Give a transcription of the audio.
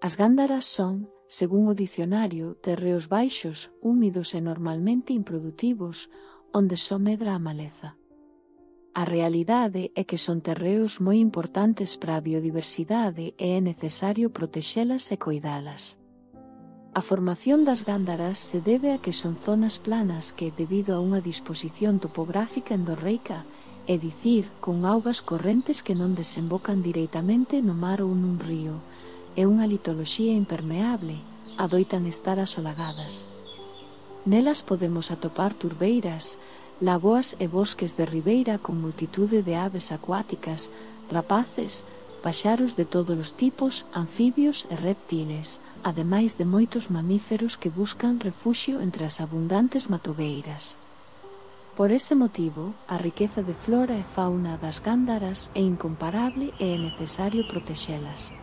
As gándaras son, según o dicionario, terreos baixos, húmidos e normalmente improdutivos, onde só medra a maleza. A realidade é que son terreos moi importantes para a biodiversidade e é necesario protexelas e coidalas. A formación das gándaras se debe a que son zonas planas que, debido a unha disposición topográfica endorreica, é dicir, con augas correntes que non desembocan directamente no mar ou nun río, e unha litoloxía impermeable, adoitan estar asolagadas. Nelas podemos atopar turbeiras, lagoas e bosques de ribeira con multitude de aves acuáticas, rapaces, paxaros de todos os tipos, anfibios e reptiles, ademais de moitos mamíferos que buscan refuxio entre as abundantes matogueiras. Por ese motivo, a riqueza de flora e fauna das gándaras é incomparable e é necesario protexelas.